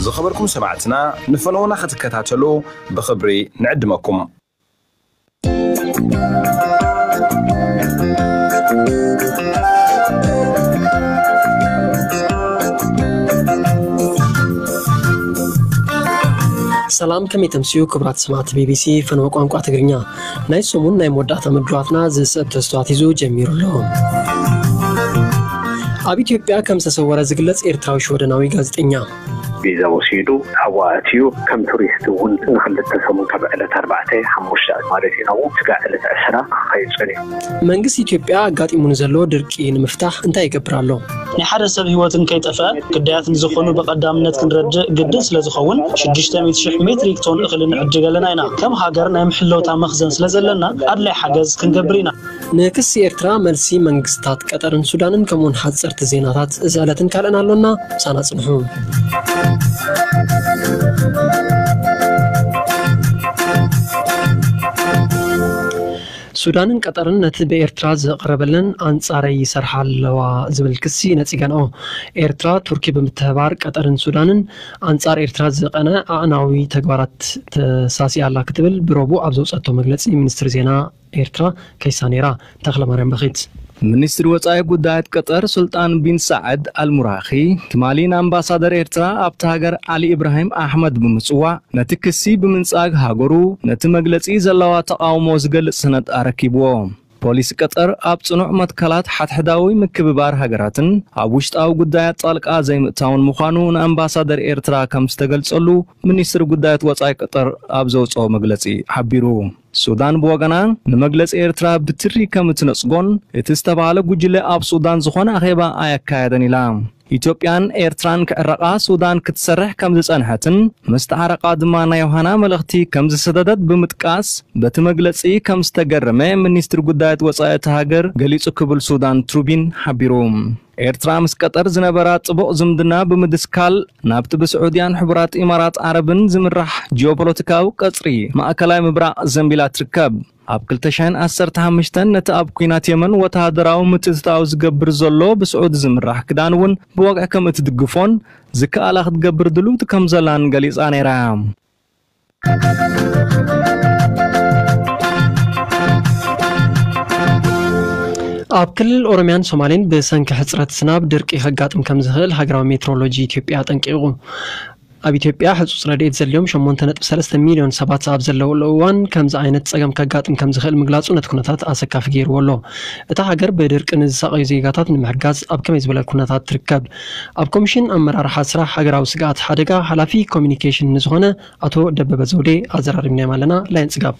ዝኸበርኩም ሰማዕትና፣ ንፈነውና ክትከታተሉ ብኽብሪ ንዕድመኩም። ሰላም፣ ከመይ ተምስዩ ክቡራት ሰማዕቲ ቢቢሲ ፈነወ ቋንቋ ትግርኛ? ናይ ሰሙን ናይ መወዳእታ መድብላትና ዝስዕብ ተስተዋት ሒዙ ጀሚሩ ኣሎ። ኣብ ኢትዮጵያ ከም ዝተሰወረ ዝግለጽ ኤርትራዊ ሽወደናዊ ጋዜጠኛ። ቪዛ ወሲዱ ኣብኡ ኣትዩ፣ ከም ቱሪስት እውን ንክልተ ሰሙን ካብ ዕለት ኣርባዕተ ሓሙሽተ ማለት እዩ ናብኡ ስጋዕ ዕለት ዕስራ ክኸይድ ጸኒሑ። መንግስቲ ኢትዮጵያ ኣጋጢሙ ንዘሎ ድርቂ ንምፍታሕ እንታይ ይገብር ኣሎ? ናይ ሓደ ሰብ ህይወትን ከይጠፍአ ግዳያት ንዝኾኑ ብቐዳምነት ክንረድእ ግድን ስለ ዝኸውን ሽዱሽተ ሚእቲ ሽሕ ሜትሪክ ቶን እኽሊ ንዕድግ ኣለና ኢና። ከም ሃገር ናይ ምሕለውታ መኽዘን ስለ ዘለና ኣድላይ ሓገዝ ክንገብር ኢና። ንክሲ ኤርትራ መልሲ መንግስታት ቀጠርን ሱዳንን ከምኡውን ሓጸርቲ ዜናታት እዚ ዕለትን ካልእን ኣሎና። ምሳና ጽንሑ። ሱዳንን ቀጠርን ነቲ ብኤርትራ ዝቐረበለን ኣንጻረይ ይሰርሓ ኣለዋ ዝብል ክሲ ነጺገንኦ። ኤርትራ ቱርኪ ብምትሕባር ቀጠርን ሱዳንን ኣንጻር ኤርትራ ዝቐነ ኣዕናዊ ተግባራት ተሳሲያ ኣላ ክትብል ብረቡዕ ኣብ ዘውጸቶ መግለጺ ሚኒስትሪ ዜና ኤርትራ ከይሳ ነይራ። ተኽለ ማርያም በኺት። ሚኒስትሪ ወጻኢ ጉዳያት ቀጠር ሱልጣን ቢን ሳዕድ ኣልሙራኺ ትማሊ ንኣምባሳደር ኤርትራ ኣብቲ ሃገር ዓሊ ኢብራሂም ኣሕመድ ብምጽዋዕ ነቲ ክሲ ብምንጻግ ሃገሩ ነቲ መግለጺ ዘለዋ ተቓውሞ ዝገልጽ ሰነድ ኣረኪብዎ። ፖሊስ ቀጠር ኣብ ጽኑዕ መትከላት ሓድሕዳዊ ምክብባር ሃገራትን ኣብ ውሽጣዊ ጉዳያት ጣልቃ ዘይምእታውን ምዃኑ ንኣምባሳደር ኤርትራ ከም ዝተገልጸሉ ሚኒስትሪ ጉዳያት ወጻኢ ቀጠር ኣብ ዘውጽኦ መግለጺ ሓቢሩ። ሱዳን ብወገና ንመግለጺ ኤርትራ ብትሪ ከም እትነጽጎን እቲ ዝተባህለ ጉጅለ ኣብ ሱዳን ዝኾነ ኣኼባ ኣየካየደን ኢላ። ኢትዮጵያን ኤርትራን ክዕረቓ ሱዳን ክትሰርሕ ከም ዝጸንሐትን ምስ ተዓረቓ ድማ ናይ ዮሃና መልእኽቲ ከም ዝሰደደት ብምጥቃስ በቲ መግለጺ ከም ዝተገረመ ሚኒስትሪ ጉዳያት ወጻኢ እቲ ሃገር ገሊጹ ክብል ሱዳን ትሩቢን ሓቢሩ። ኤርትራ ምስ ቀጠር ዝነበራ ጽቡቕ ዝምድና ብምድስካል ናብቲ ብስዑድያን ሕቡራት ኢማራት ዓረብን ዝምራሕ ጂኦፖለቲካዊ ቀጽሪ ማእከላይ ምብራቕ ዘንቢላ ትርከብ። ኣብ ክልተ ሽሕን ዓሰርተ ሓሙሽተን ነቲ ኣብ ኲናት የመን ወተሃደራዊ ምትእትታው ዝገብር ዘሎ ብስዑዲ ዝምራሕ ክዳን እውን ብወግዒ ከም እትድግፎን ዝከኣላ ክትገብር ድልውቲ ከም ዘላን ገሊጻ ነይራ። ኣብ ክልል ኦሮሚያን ሶማሌን ብሰንኪ ሕጽረት ዝናብ ድርቂ ከጋጥም ከም ዝኽእል ሃገራዊ ሜትሮሎጂ ኢትዮጵያ ኣጠንቂቑ። ኣብ ኢትዮጵያ ህጹጽ ረድኤት ዘድልዮም ሸሞንተ ነጥቢ ሰለስተ ሚልዮን ሰባት ኣብ ዘለውሉ እዋን ከምዚ ዓይነት ጸገም ከጋጥም ከም ዝኽእል ምግላጹ ነቲ ኩነታት ኣሰካፊ ገይርዎ ኣሎ። እታ ሃገር ብድርቂ ንዝሳቐዩ ዜጋታት ንምሕጋዝ ኣብ ከመይ ዝበለ ኩነታት ትርከብ? ኣብ ኮሚሽን ኣመራርሓ ስራሕ ሃገራዊ ስግኣት ሓደጋ ሓላፊ ኮሚኒኬሽን ንዝኾነ ኣቶ ደበበ ዘውዴ ኣዘራሪብናዮም ኣለና። ላይን ጽጋብ።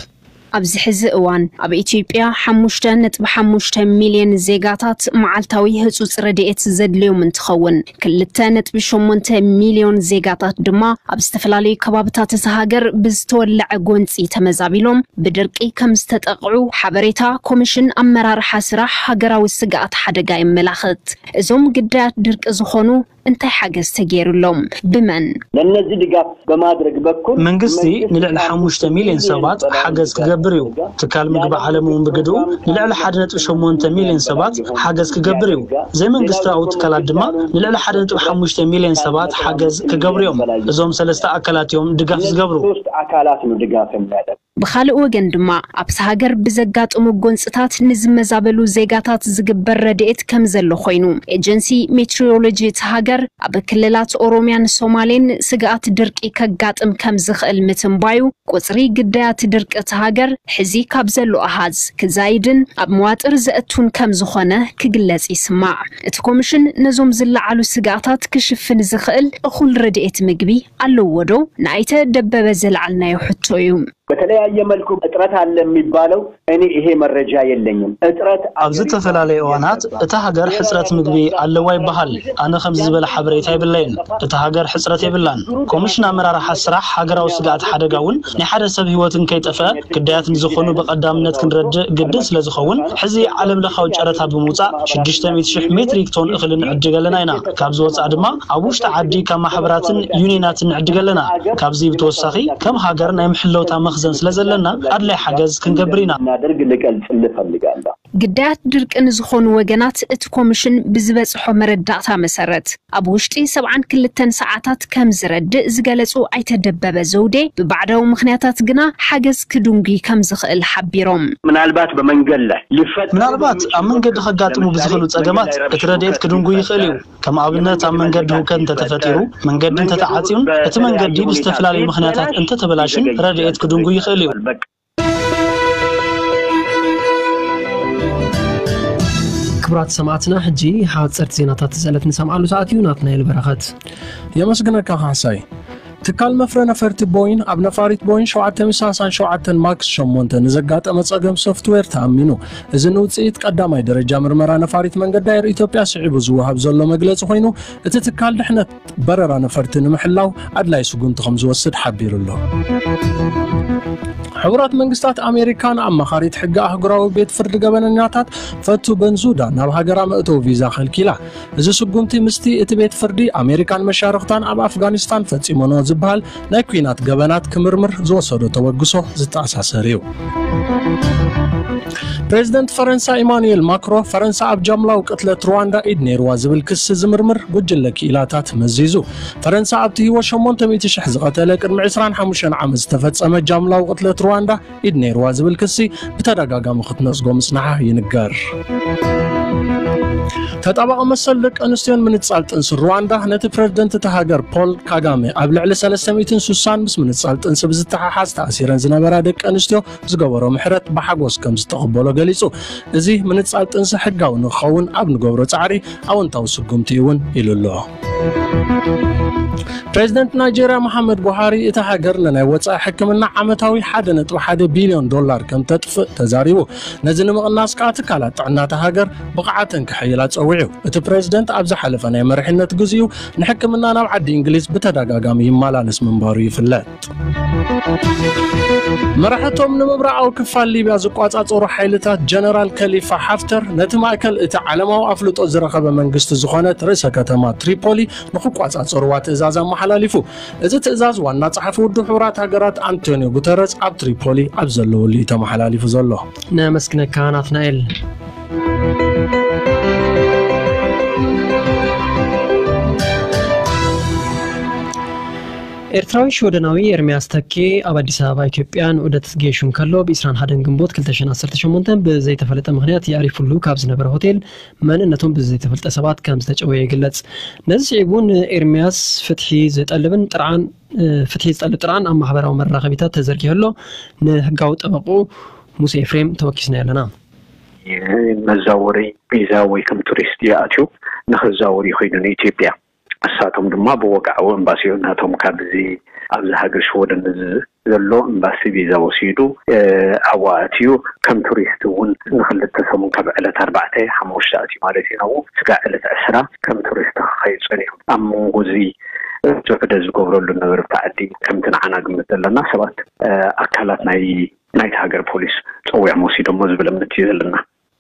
ኣብዚ ሕዚ እዋን ኣብ ኢትዮጵያ ሓሙሽተ ነጥቢ ሓሙሽተ ሚልዮን ዜጋታት መዓልታዊ ህጹጽ ረድኤት ዘድልዮም እንትኸውን፣ ክልተ ነጥቢ ሸሞንተ ሚልዮን ዜጋታት ድማ ኣብ ዝተፈላለዩ ከባብታት እታ ሃገር ብዝተወለዐ ጎንጺ ተመዛቢሎም ብድርቂ ከም ዝተጠቕዑ ሓበሬታ ኮሚሽን ኣመራርሓ ስራሕ ሃገራዊ ስግኣት ሓደጋ የመላኽት። እዞም ግዳያት ድርቂ ዝኾኑ እንታይ ሓገዝ ተገይሩሎም? ብመን? ለነዚህ ድጋፍ በማድረግ በኩል መንግስቲ ንልዕሊ ሓሙሽተ ሚልዮን ሰባት ሓገዝ ክገብር እዩ። ትካል ምግቢ ዓለም እውን ብግድኡ ንልዕሊ ሓደ ነጥቢ ሸሞንተ ሚልዮን ሰባት ሓገዝ ክገብር እዩ። ዘይመንግስታዊ ትካላት ድማ ንልዕሊ ሓደ ነጥቢ ሓሙሽተ ሚልዮን ሰባት ሓገዝ ክገብሩ እዮም። እዞም ሰለስተ ኣካላት እዮም ድጋፍ ዝገብሩ። ሶስት አካላት ነው ድጋፍ የሚያደርግ። ብኻልእ ወገን ድማ ኣብቲ ሃገር ብዘጋጥሙ ጎንፅታት ንዝመዛበሉ ዜጋታት ዝግበር ረድኤት ከም ዘሎ ኮይኑ፣ ኤጀንሲ ሜትሮሎጂ እቲ ሃገር ኣብ ክልላት ኦሮሚያን ሶማሌን ስግኣት ድርቂ ከጋጥም ከም ዝኽእል ምትንባዩ፣ ቁፅሪ ግዳያት ድርቂ እቲ ሃገር ሕዚ ካብ ዘሎ ኣሃዝ ክዛይድን ኣብ መዋጥር ዘእቱን ከም ዝኾነ ክግለጽ ይስማዕ። እቲ ኮሚሽን ነዞም ዝለዓሉ ስግኣታት ክሽፍን ዝኽእል እኹል ረድኤት ምግቢ ኣለዎ ዶ? ንኣይተ ደበበ ዘልዓልናዮ ሕቶ እዩ። በተለያየ መልኩ እጥረት አለ የሚባለው፣ እኔ ይሄ መረጃ የለኝም። እጥረት አለ። ኣብ ዝተፈላለዩ እዋናት እታ ሃገር ሕጽረት ምግቢ ኣለዋ ይበሃል። ኣነ ከምዚ ዝበለ ሓበሬታ የብለይን። እታ ሃገር ሕጽረት የብላን። ኮሚሽን ኣመራርሓ ስራሕ ሃገራዊ ስግኣት ሓደጋ እውን ናይ ሓደ ሰብ ህይወትን ከይጠፍአ ግዳያት ንዝኾኑ ብቐዳምነት ክንረድእ ግድን ስለ ዝኸውን፣ ሕዚ ዓለም ለኻዊ ጨረታ ብምውጻእ ሽዱሽተ ሚእቲ ሽሕ ሜትሪክ ቶን እኽሊ ንዕድግ ኣለና ኢና። ካብዚ ወጻኢ ድማ ኣብ ውሽጢ ዓዲ ካብ ማሕበራትን ዩኒየናትን ንዕድግ ኣለና። ካብዚ ብተወሳኺ ከም ሃገር ናይ ምሕለውታ መኽዘን ስለ ዘለና ኣድላይ ሓገዝ ክንገብር ኢና። እናደርግ ልገልጽልህ እፈልጋለሁ። ግዳያት ድርቂ ንዝኾኑ ወገናት እቲ ኮሚሽን ብዝበጽሖ መረዳእታ መሰረት ኣብ ውሽጢ ሰብዓን ክልተን ሰዓታት ከም ዝረድእ ዝገለጹ ኣይተ ደበበ ዘውዴ፣ ብባዕዳዊ ምኽንያታት ግና ሓገዝ ክድንጉይ ከም ዝኽእል ሓቢሮም። ምናልባት በመንገድ ላይ ሊፈጠሩ ምናልባት ኣብ መንገዲ ከጋጥሙ ብዝኽእሉ ጸገማት እቲ ረድኤት ክድንጉይ ይኽእል እዩ። ከም ኣብነት ኣብ መንገዲ ህውከት እንተተፈጢሩ፣ መንገዲ እንተተዓጽዩን እቲ መንገዲ ብዝተፈላለዩ ምኽንያታት እንተተበላሽን ረድኤት ክድንጉይ ይኽእል እዩ። ክቡራት ሰማዕትና፣ ሕጂ ሓፀርቲ ዜናታት ዝዕለት ንሰምዓሉ ሰዓት እዩ። ናትናኤል በረኸት። የመስግነካ ካሕሳይ። ትካል መፍረ ነፈርቲ ቦይን ኣብ ነፋሪት ቦይን ሸውዓተ ሚእቲ ሰላሳን ሸውዓተን ማክስ ሸሞንተ ንዘጋጠመ ጸገም ሶፍትዌር ተኣሚኑ። እዚ ንውጽኢት ቀዳማይ ደረጃ ምርመራ ነፋሪት መንገዲ ኣየር ኢትዮጵያ ስዒቡ ዝወሃብ ዘሎ መግለጺ ኮይኑ፣ እቲ ትካል ድሕነት በረራ ነፈርቲ ንምሕላው ኣድላይ ስጉምቲ ከም ዝወስድ ሓቢሩ ኣሎ። ሕቡራት መንግስታት ኣሜሪካ ንኣማኻሪት ሕጊ ኣህጉራዊ ቤት ፍርዲ ገበነኛታት ፈቱ በንዙዳ ናብ ሃገራ መእተዊ ቪዛ ከልኪላ። እዚ ስጉምቲ ምስቲ እቲ ቤት ፍርዲ ኣሜሪካን መሻርኽታን ኣብ ኣፍጋኒስታን ፈጺሞኖ ዝበሃል ናይ ኲናት ገበናት ክምርምር ዝወሰዶ ተበግሶ ዝተኣሳሰር እዩ። ፕሬዚደንት ፈረንሳ ኢማኑኤል ማክሮ፣ ፈረንሳ ኣብ ጃምላዊ ቅትለት ሩዋንዳ ኢድ ነይርዋ ዝብል ክሲ ዝምርምር ጉጅለ ክኢላታት መዚዙ። ፈረንሳ ኣብቲ ህይወት ሸሞንተ ሚእቲ ሽሕ ዝቐተለ ቅድሚ ዕስራን ሓሙሽተን ዓመት ዝተፈጸመ ጃምላዊ ቅትለት ሩዋንዳ ኢድ ነይርዋ ዝብል ክሲ ብተደጋጋሚ ክትነጽጎ ምጽናሓ ይንገር። ተጣባቒ መሰል ደቂ ኣንስትዮን ምንጻል ጥንሲ ሩዋንዳ ነቲ ፕሬዝደንት እታ ሃገር ፖል ካጋሜ ኣብ ልዕሊ ሰለስተ ሚእትን ስሳን ምስ ምንጻል ጥንሲ ብዝተሓሓዝ ተኣሲረን ዝነበራ ደቂ ኣንስትዮ ዝገበሮ ምሕረት ብሓጎስ ከም ዝተቐበሎ ገሊጹ። እዚ ምንጻል ጥንሲ ሕጋዊ ንክኸውን ኣብ ንገብሮ ጻዕሪ ኣወንታዊ ስጉምቲ እውን ኢሉ ኣሎ። ፕሬዝደንት ናይጄርያ መሓመድ ቡሃሪ እታ ሃገር ንናይ ወጻኢ ሕክምና ዓመታዊ ሓደ ነጥቢ ሓደ ቢልዮን ዶላር ከም ተጥፍእ ተዛሪቡ። ነዚ ንምቕናስ ከኣ ትካላት ጥዕና እታ ሃገር ብቕዓተን ክሕይላ ጸዊዑ። እቲ ፕሬዝደንት ኣብ ዝሓለፈ ናይ መሪሕነት ግዜኡ ንሕክምና ናብ ዓዲ እንግሊዝ ብተደጋጋሚ ይመላለስ ምንባሩ ይፍለጥ። መራሕቶም ንምብራቓዊ ክፋል ሊብያ ዝቋጻጸሩ ሓይልታት ጀነራል ከሊፋ ሓፍተር ነቲ ማእከል እቲ ዓለማዊ ኣፍልጦ ዝረኸበ መንግስቲ ዝኾነት ርእሰ ከተማ ትሪፖሊ ንኽቋጻጸርዋ ትእዛዝ ኣመሓላሊፉ። እዚ ትእዛዝ ዋና ጸሓፊ ውድብ ሕቡራት ሃገራት ኣንቶኒዮ ጉተረዝ ኣብ ትሪፖሊ ኣብ ዘለወሉ እዩ ተመሓላሊፉ ዘሎ። ነመስግነካ ናትናኤል። ኤርትራዊ ሽወደናዊ ኤርሚያስ ተኬ ኣብ ኣዲስ ኣበባ ኢትዮጵያ ንዑደት ገይሹ እንከሎ፣ ብ ዕስራን ሓደን ግንቦት ክልተ ሽሕን ዓሰርተ ሸሞንተ ብዘይተፈለጠ ምኽንያት የዕሪፉሉ ካብ ዝነበረ ሆቴል መንነቶም ብዘይተፈልጠ ሰባት ከም ዝተጨወየ ይግለጽ። ነዚ ስዒቡ ንኤርሚያስ ፍትሒ ዝጠልብን ጥርዓን፣ እ፣ ፍትሒ ዝጠልብ ጥርዓን ኣብ ማሕበራዊ መራኸቢታት ተዘርጊሑ ኣሎ። ንህጋዊ ጠበቕኡ ሙሴ ኤፍሬም ተወኪስናዮ ኣለና። መዛወሪ ቪዛ ወይ ከም ቱሪስት ይኣትዩ፣ ንኽዛወር ይኸይዱ ንኢትዮጵያ። እሳቶም ድማ ብወግዓዊ ኤምባሲኡ ናቶም ካብዚ ኣብዚ ሃገር ሽወደን ዘሎ ኤምባሲ ቪዛ ወሲዱ፣ እ፣ ኣብኡ ኣትዩ ከም ቱሪስት እውን ንክልተ ሰሙን ካብ ዕለት ኣርባዕተ ሓሙሽተ ኣትዩ ማለት እዩ ናብኡ። ስጋዕ ዕለት ዕስራ ከም ቱሪስት ክኸይድ ጸኒሑ። ኣብ መንጎ እዚ፣ እ፣ ዝዕደ ዝገብረሉ ነበረ ኣብቲ ዓዲ ከምቲ ንዓና ግምት ዘለና ሰባት፣ እ፣ ኣካላት ናይ ናይቲ ሃገር ፖሊስ ጸዊዖም ወሲዶሞ ዝብል እምነት እዩ ዘለና።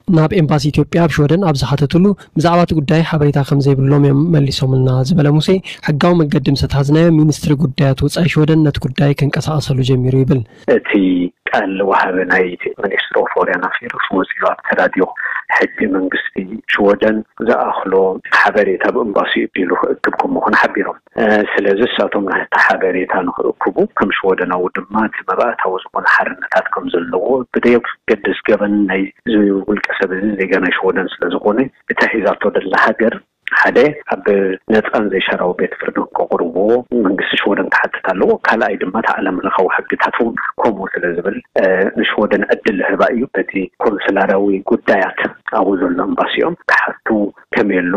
ናብ ኤምባሲ ኢትዮጵያ ኣብ ሽወደን ኣብ ዝሓተትሉ፣ ብዛዕባ እቲ ጉዳይ ሓበሬታ ከም ዘይብሎም እዮም መሊሶምልና ዝበለ ሙሴ፣ ሕጋዊ መገዲ ምስ ኣትሓዝናዮ፣ ሚኒስትሪ ጉዳያት ወጻኢ ሽወደን ነቲ ጉዳይ ከንቀሳቐሰሉ ጀሚሩ ይብል። እቲ ቃል ወሃቢ ናይ ሚኒስትሪ ኦፍ ፎሬን ኣፌርስ ወጺኡ ኣብቲ ራድዮ፣ ሕጂ መንግስቲ ሽወደን ዝኣኽሎ ሓበሬታ ብኤምባሲ እቢሉ ክእክብ ከም ምዃኑ ሓቢሮም። እ፣ ስለዚ እሳቶም ናይቲ ሓበሬታ ንኽእክቡ፣ ከም ሽወደናዊ ድማ እቲ መባእታዊ ዝኾነ ሓርነታት ከም ዘለዎ፣ ብደየገድስ ገበን ናይ ውልቀ ሰብ እዚ ዜጋ ናይ ሽወደን ስለ ዝኾነ፣ እታ ሒዛቶ ዘላ ሃገር ሓደ ኣብ ነጻን ዘይሻራዊ ቤት ፍርዲ ከቕርብዎ መንግስቲ ሽወደን ክሓትት ኣለዎ። ካልኣይ ድማ እቲ ዓለም ለኻዊ ሕግታት እውን ከምኡ ስለ ዝብል፣ እ፣ ንሽወደን ዕድል ዝህባ እዩ። በቲ ኮንስላራዊ ጉዳያት ኣብኡ ዘሎ ኤምባሲኦም ክሓቱ ከመይ ኣሎ፣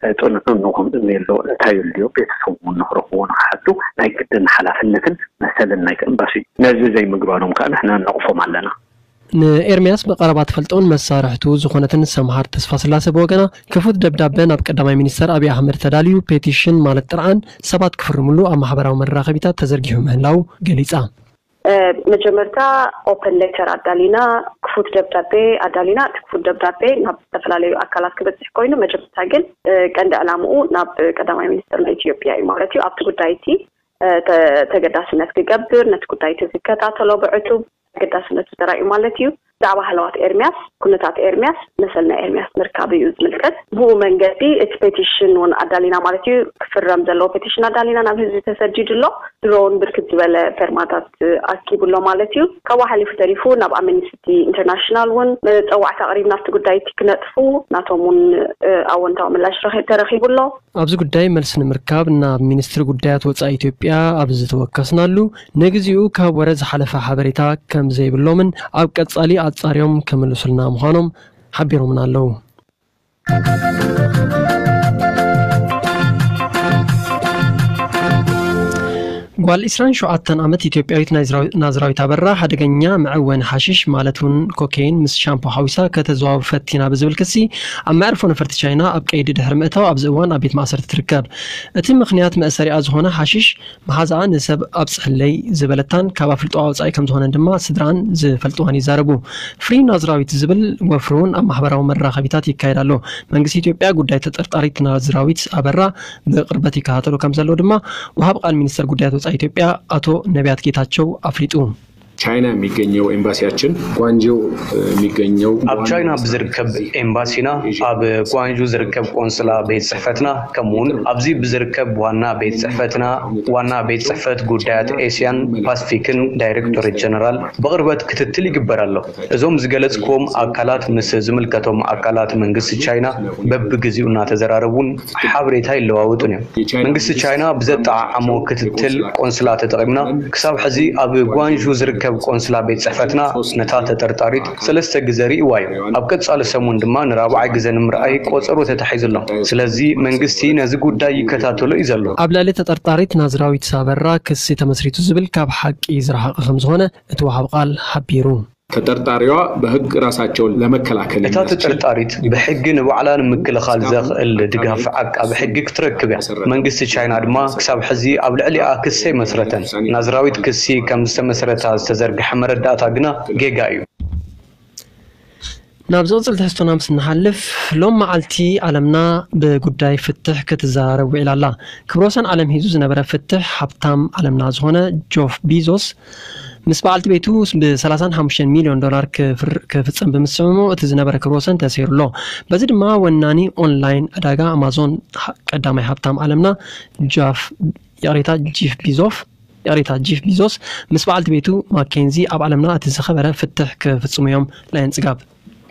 እ፣ ጽንዕንኡ ከምኡ ከመይ ኣሎ፣ እንታይ ኣሎ፣ ቤተሰቡ እውን ንኽረኽብዎ ንኽሓቱ ናይ ግድን ሓላፍነትን መሰልን ናይቲ ኤምባሲ እዩ። ነዚ ዘይምግባሮም ከኣ ንሕና ነቕፎም ኣለና። ንኤርምያስ ብቐረባ ትፈልጦን መሳርሕቱ ዝኾነትን ሰምሃር ተስፋስላሰ ብወገና፣ ክፉት ደብዳበ ናብ ቀዳማይ ሚኒስተር ኣብይ ኣሕመድ ተዳልዩ፣ ፔቲሽን ማለት ጥርዓን ሰባት ክፍርምሉ ኣብ ማሕበራዊ መራኸቢታት ተዘርጊሑ ምህላው ገሊጻ። እ፣ መጀመርታ ኦፐን ሌተር ኣዳሊና፣ ክፉት ደብዳቤ ኣዳሊና። እቲ ክፉት ደብዳቤ ናብ ዝተፈላለዩ ኣካላት ክበጽሕ ኮይኑ፣ መጀመርታ ግን፣ እ፣ ቀንዲ ዕላምኡ ናብ ቀዳማይ ሚኒስተር ናይ ኢትዮጵያ እዩ ማለት እዩ። ኣብቲ ጉዳይ እቲ፣ እ፣ ተ-፣ ተገዳስነት ክገብር፣ ነቲ ጉዳይ እቲ ዝከታተሎ ብዕቱብ ተገዳስነቱ ተራእዩ ማለት እዩ። ብዛዕባ ሃለዋት ኤርሚያስ፣ ኩነታት ኤርሚያስ፣ መሰል ናይ ኤርሚያስ ምርካብ እዩ ዝምልከት። ብኡ መንገዲ እቲ ፔቲሽን እውን ኣዳሊና ማለት እዩ። ክፍረም ዘለዎ ፔቲሽን ኣዳሊና ናብ ህዝቢ ተሰዲዱ ኣሎ። ድሮ እውን ብርክት ዝበለ ፌርማታት ኣኪቡ ኣሎ ማለት እዩ። ካብኡ ሓሊፉ ተሪፉ ናብ ኣምነስቲ ኢንተርናሽናል እውን መፀዋዕታ ኣቕሪብና ኣብቲ ጉዳይ እቲ ክነጥፉ፣ ናቶም እውን ኣወንታዊ ምላሽ ረኺ- ተረኺቡ ኣሎ። ኣብዚ ጉዳይ መልሲ ንምርካብ ናብ ሚኒስትሪ ጉዳያት ወጻኢ ኢትዮጵያ ኣብ ዝተወከስናሉ፣ ንግዚኡ ካብ ወረ ዝሓለፈ ሓበሬታ ከም ዘይብሎምን ኣብ ቀጻሊ ኣጻርዮም ክምልሱልና ምዃኖም ሓቢሮምና ኣለዉ። ጓል ዒስራን ሸውዓተን ዓመት ኢትዮጵያዊት ናዝራዊ- ናዝራዊት ኣበራ ሓደገኛ መዐወኒ ሓሽሽ ማለት እውን ኮኬይን ምስ ሻምፖ ሓዊሳ ከተዘዋውር ፈቲና ብዝብል ክሲ ኣብ መዕርፎ ነፈርቲ ቻይና ኣብ ቀይዲ ድሕሪ ምእታው ኣብዚ እዋን ኣብ ቤት ማእሰርቲ ትርከብ። እቲ ምኽንያት መእሰሪኣ ዝኾነ ሓሽሽ መሓዛኣ ንሰብ ኣብፅሕለይ ዝበለታን ካብ ኣፍልጦኣ ወፃኢ ከም ዝኾነን ድማ ስድራን ዝፈልጥዋን ይዛረቡ። ፍሪ ናዝራዊት ዝብል ወፍሪ እውን ኣብ ማሕበራዊ መራኸቢታት ይካየድ ኣሎ። መንግስቲ ኢትዮጵያ ጉዳይ ተጠርጣሪት ናዝራዊት ኣበራ ብቕርበት ይከታተሎ ከም ዘሎ ድማ ወሃብ ቃል ሚኒስተር ጉዳያት ወጻኢ ኢትዮጵያ ኣቶ ነቢያት ጌታቸው ኣፍሊጡ። ቻይና የሚገኘው ኤምባሲያችን ጓንጆ የሚገኘው ኣብ ቻይና ብዝርከብ ኤምባሲና ኣብ ጓንጁ ዝርከብ ቆንስላ ቤት ጽሕፈትና ከምኡውን ኣብዚ ብዝርከብ ዋና ቤት ጽሕፈትና ዋና ቤት ጽሕፈት ጉዳያት ኤስያን ፓስፊክን ዳይሬክቶሬት ጀነራል ብቕርበት ክትትል ይግበር ኣሎ። እዞም ዝገለጽክዎም ኣካላት ምስ ዝምልከቶም ኣካላት መንግስቲ ቻይና በብግዜኡ እናተዘራረቡን ሓበሬታ ይለዋወጡን እዮም። መንግስቲ ቻይና ብዘጠዓዓሞ ክትትል ቆንስላ ተጠቒምና ክሳብ ሕዚ ኣብ ጓንዡ ዝርከብ ቆንስላ ቤት ጽሕፈትና ነታ ተጠርጣሪት ሰለስተ ግዘ ርእይዋ እዩ። ኣብ ቀጻሊ ሰሙን ድማ ንራብዓይ ግዘ ንምርኣይ ቆጸሮ ተታሒዙ ኣሎ። ስለዚ መንግስቲ ነዚ ጉዳይ ይከታተሎ እዩ ዘሎ። ኣብ ልዕሊ ተጠርጣሪት ናዝራዊት ኣበራ ክሲ ተመስሪቱ ዝብል ካብ ሓቂ ዝረሓቐ ከም ዝኾነ እቲ ወሃብ ቃል ሓቢሩ። ተጠርጣሪዋ በሕግ ራሳቸውን ለመከላከል እታ ተጠርጣሪት ብሕጊ ንባዕላ ንምክልኻል ዘኽእል ድጋፍ ዓቃቢ ሕጊ ክትረክብ እያ። መንግስቲ ቻይና ድማ ክሳብ ሕዚ ኣብ ልዕሊኣ ክሲ ኣይመስረተን። ናዝራዊት ክሲ ከም ዝተመስረታ ዝተዘርግሐ መረዳእታ ግና ጌጋ እዩ። ናብ ዝቕፅል ትሕዝቶና ምስ ንሓልፍ፣ ሎም መዓልቲ ዓለምና ብጉዳይ ፍትሕ ክትዘራረብ ውዒላ ኣላ። ክብረ ወሰን ዓለም ሒዙ ዝነበረ ፍትሕ ሃብታም ዓለምና ዝኾነ ጆፍ ቢዞስ ምስ በዓልቲ ቤቱ ብ ሰላሳን ሓሙሽተን ሚልዮን ዶላር ክፍር- ክፍጸም ብምስምምዑ እቲ ዝነበረ ክብረ ወሰን ተሰይሩ ኣሎ። በዚ ድማ ወናኒ ኦንላይን ዕዳጋ ኣማዞን ሀ- ቀዳማይ ሃብታም ዓለምና ጃፍ ይቕሬታ ጂፍ ቢዞፍ ይቕሬታ ጂፍ ቢዞስ ምስ በዓልቲ ቤቱ ማኬንዚ ኣብ ዓለምና እቲ ዝኸበረ ፍትሕ ክፍጽሙ እዮም። ላየን ጽጋብ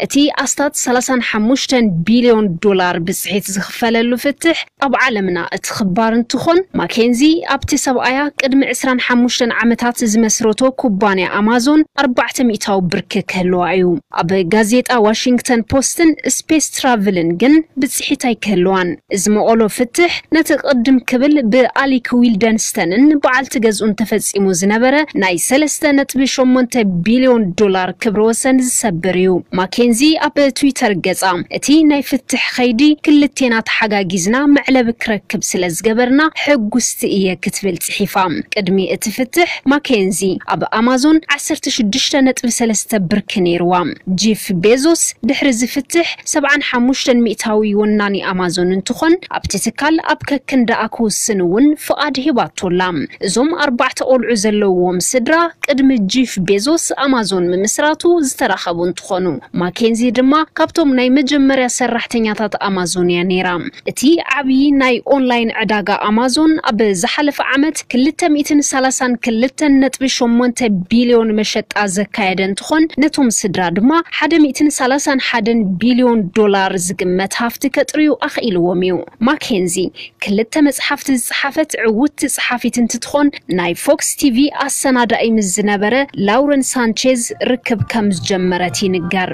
እቲ ኣስታት ሰላሳን ሓሙሽተን ቢልዮን ዶላር ብፅሒት ዝኽፈለሉ ፍትሕ ኣብ ዓለምና እቲ ክባር እንትኾን ማኬንዚ ኣብቲ ሰብኣያ ቅድሚ ዕስራን ሓሙሽተን ዓመታት ዝመስረቶ ኩባንያ ኣማዞን ኣርባዕተ ሚእታዊ ብርኪ ክህልዋ እዩ። ኣብ ጋዜጣ ዋሽንግተን ፖስትን ስፔስ ትራቭልን ግን ብፅሒት ኣይክህልዋን። እዚ መቐሎ ፍትሕ ነቲ ቅድም ክብል ብኣሊክ ዊልደንስተንን በዓልቲ ገዝኡን ተፈፂሙ ዝነበረ ናይ ሰለስተ ነጥቢ ሸሞንተ ቢልዮን ዶላር ክብረ ወሰን ዝሰብር እዩ። ማኬንዚ ኣብ ትዊተር ገፃ እቲ ናይ ፍትሕ ኸይዲ ክልቴና ተሓጋጊዝና መዕለቢ ክረክብ ስለ ዝገበርና ሕጉስቲ እየ ክትብል ፅሒፋ። ቅድሚ እቲ ፍትሕ ማኬንዚ ኣብ ኣማዞን ዓሰርተ ሽዱሽተ ነጥቢ ሰለስተ ብርኪ ነይርዋ። ጂፍ ቤዞስ ድሕሪ ዝፍትሕ ሰብዓን ሓሙሽተን ሚእታዊ ወናኒ ኣማዞን እንትኾን ኣብቲ ትካል ኣብ ከክንዳኣ ክውስን እውን ፍቓድ ሂባቶላ። እዞም ኣርባዕተ ቆልዑ ዘለውዎም ስድራ ቅድሚ ጂፍ ቤዞስ ኣማዞን ምምስራቱ ዝተራኸቡ እንትኾኑ ማኬንዚ ድማ ካብቶም ናይ መጀመርያ ሰራሕተኛታት ኣማዞን እያ ነይራ። እቲ ዓብዪ ናይ ኦንላይን ዕዳጋ ኣማዞን ኣብ ዝሓለፈ ዓመት ክልተ ሚእትን ሰላሳን ክልተን ነጥቢ ሸሞንተ ቢልዮን መሸጣ ዘካየደ እንትኾን ነቶም ስድራ ድማ ሓደ ሚእትን ሰላሳን ሓደን ቢልዮን ዶላር ዝግመት ሃፍቲ ከጥርዩ ኣኽኢልዎም እዩ። ማኬንዚ ክልተ መፅሓፍቲ ዝፀሓፈት ዕውትቲ ፀሓፊት እንትትኾን ናይ ፎክስ ቲቪ ኣሰናዳኢ ምስ ዝነበረ ላውረን ሳንቼዝ ርክብ ከም ዝጀመረት ይንገር።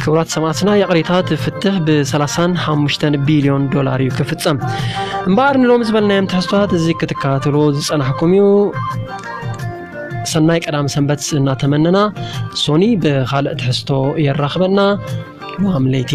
ክቡራት ሰማዕትና ይቕሬታ እቲ ፍትሕ ብ ሰላሳን ሓሙሽተን ቢልዮን ዶላር እዩ ክፍጸም። እምበኣር ንሎሚ ዝበልናዮም ትሕዝቶታት እዚ ክትከታተልዎ ዝጸናሕኩም እዩ። ሰናይ ቀዳም ሰንበት እናተመነና ሶኒ ብኻልእ ትሕዝቶ የራኽበና። ሎሃም ለይቲ